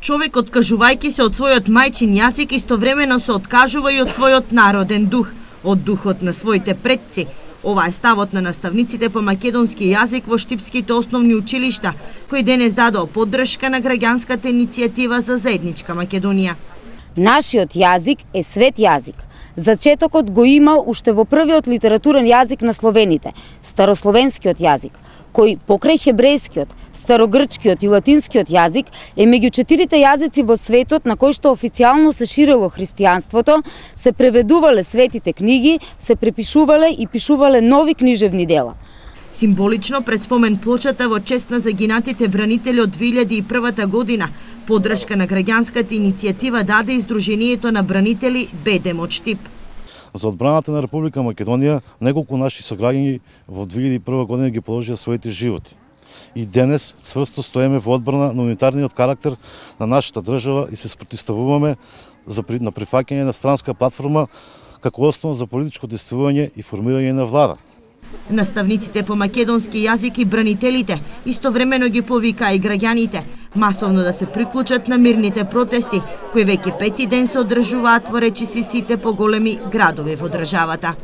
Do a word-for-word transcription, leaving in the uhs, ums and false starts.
Човек откажувајќи се од својот мајчин јазик, истовремено се откажува и од својот народен дух, од духот на своите предци. Ова е ставот на наставниците по македонски јазик во штипските основни училишта, кои денес дадоа поддршка на граѓанската иницијатива за заедничка Македонија. Нашиот јазик е свет јазик. Зачетокот го има уште во првиот литературен јазик на словените, старословенскиот јазик, кој покрај хебрејскиот, старогрчкиот и латинскиот јазик е меѓу четирите јазици во светот на кој што официјално се ширело христијанството, се преведувале светите книги, се препишувале и пишувале нови книжевни дела. Символично пред спомен плочата во чест на загинатите бранители од две илјади и првата година, поддршка на граѓанската иницијатива даде и Сдруженијето на бранители Бедем од Штип. За одбраната на Република Македонија, неколку наши сограѓани во две илјади и прва година ги положија своите животи. И денес цврсто стоеме во одбрана на унитарниот карактер на нашата држава и се спротивставуваме за на прифаќање на странска платформа како основа за политичко действување и формирање на влада. Наставниците по македонски јазик и бранителите истовремено ги повикаа и граѓаните масовно да се приклучат на мирните протести, кои веќе пети ден се одржуваат во речиси сите поголеми градови во државата.